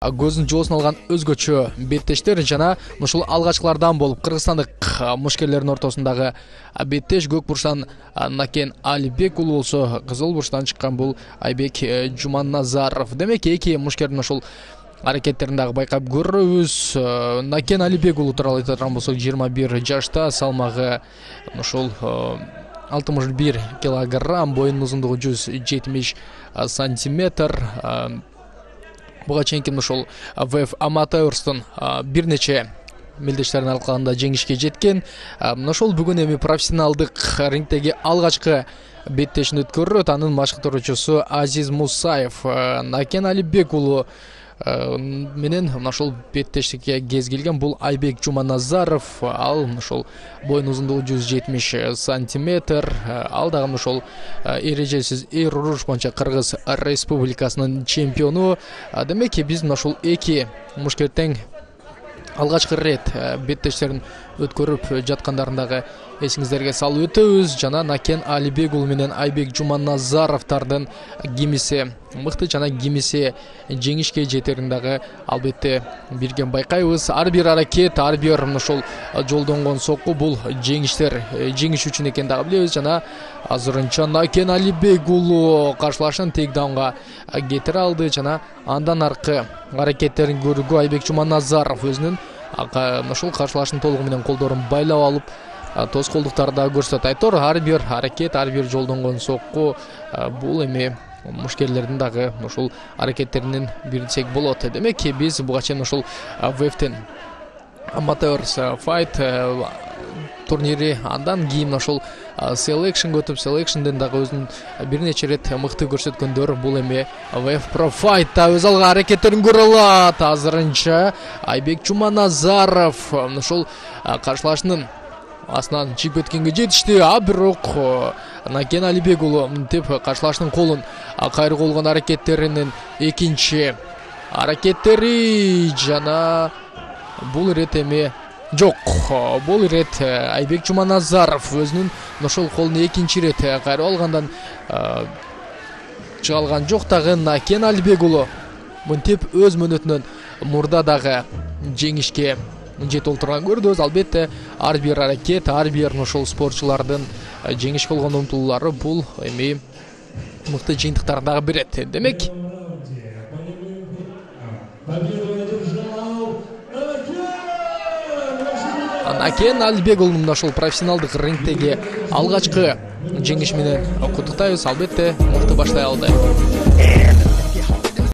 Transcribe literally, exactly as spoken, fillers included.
көзүн жоосун алган өзгөчө беттештер жана ушул алгачкылардан болуп кыргызстандык мушкерлердин ортосундагы беттеш көк бурчтан Накен Алибек уулу болсо кызыл бурчтан чыккан бул Айбек Жуманазаров. Демек эки мушкердин ушул аракеттерин дагы байкап көрөбүз. Накен Алибек уулу тууралуу айтатын болсок жыйырма бир жашта, салмагы ушул алтымыш бир килограмм, боюнун узундугу жүз жетимиш сантиметр. Буга чейинки ушул ВФ Аматорстун бир нече мелдештерин алкагында жеңишке жеткен. Ошол бүгүн эми профессионалдык рингдеги алгачкы беттешин өткөрөт. Анын башкаруучусу Азиз Мусаев. Накен Алибек уулу менен ошол беттештикке кез келген бул Айбек Жуманазаров. Ал ошол боюн узундугу жүз жетимиш сантиметр. Ал дагы ошол эрежесиз эр уруш боюнча Кыргыз Республикасынын чемпиону. Демек биз ошол эки мушкер тең алгачкы рет беттештерин өткөрүп жаткандарын дагы эсиңиздерге салып өтөбүз. Жана Накен Алибек уулу менен Айбек Жуманазаровдун кимиси мыкты жана кимиси жеңишке жетерин дагы албетте бирге байкайбыз. Ар бир аракет, ар бир ошол жолдонгон сокку бул жеңиштер жеңиш үчүн экенин дагы билебиз. Жана азырынча Накен Алибек уулу каршылашын тейкдаунга кетире алды жана андан аркы аракеттерин көрүүгө Айбек Жуманазаров өзүнүн ошол каршылашын толугу менен колдорун байлап алып тоскоолдуктарды да көрсөтөт. Айтор ар бир аракет, ар бир жолдонгон сокку бул эми мушкерлердин дагы ушул аракеттеринен бири десек болот. Демек биз буга чейин ушул ВФтен Amateurs Fight турнири, андан кийин ошол Selection өтүп, Selectionден дагы өзүнүн бир нече рет мыкты көрсөткөндөр бул эми ВФ Pro Fight'та өз алга аракеттерин көрө алат. Азырынча Айбек Жуманазаров ошол каршылашынын астынан чыгып өткөнгө жетишти. А бирок Накен Алибек уулу мынтип каршылашынын колун кайрып болгон аракеттеринин экинчи аракеттери жана бул ирет эми жок. Бул ирет Айбек Жуманазаров өзүнүн ошол колун экинчи ирет кайрып алгандан чыга алган жок. Дагы Накен Алибек уулу мынтип өз мөөнөтүнөн мурда дагы жеңишке жетип олтурган көрдүбүз. Албетте ар бир аракет, ар бир ошол спортчулардын жеңишке болгон умтулуулары бул эми мыкты жыйынтыктарды дагы берет. Демек Накен Алибек уулун ошол профессионалдык рингдеги алгачкы жеңиш менен куттуктайбыз. Албетте мыкты баштай алды.